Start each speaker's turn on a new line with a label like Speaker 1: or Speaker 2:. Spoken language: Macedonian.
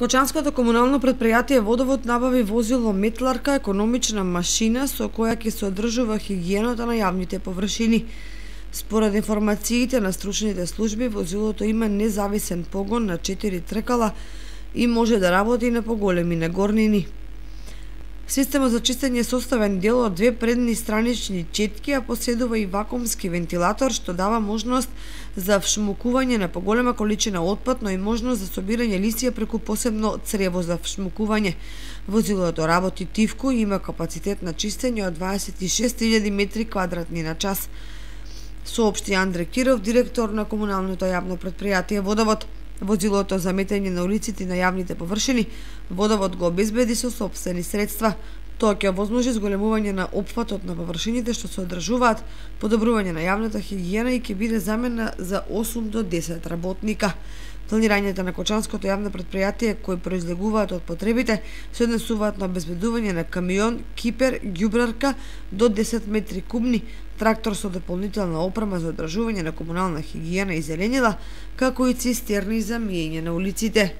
Speaker 1: Кочанското комунално претпријатие Водовод набави возило метларка, економична машина со која ќе се одржува хигиената на јавните површини. Според информациите на стручните служби, возилото има независен погон на 4 тркала и може да работи на поголеми нагорнини. Системот за чистење е составен дел од две предни странични четки, а поседува и вакуумски вентилатор, што дава можност за вшмукување на поголема количина отпад, но и можност за собирање лисија преку посебно црево за вшмукување. Возилото работи тивко и има капацитет на чистење од 26.000 метри квадратни на час, соопшти Андре Киров, директор на комуналното јавно претпријатие Водовод. Возилото за метење на улиците и на јавните површини Водовод го обезбеди со сопствени средства. Тоа ќе овозможи зголемување на опфатот на површините што се одржуваат, подобрување на јавната хигиена и ќе биде замена за 8 до 10 работника. Планирањето на Кочанското јавно претпријатие кои произлегуваат од потребите се однесуваат на обезбедување на камион, кипер, ѓубрарка до 10 метри кубни, трактор со дополнителна опрема за одржување на комунална хигиена и зеленила, како и цистерни за миење на улиците.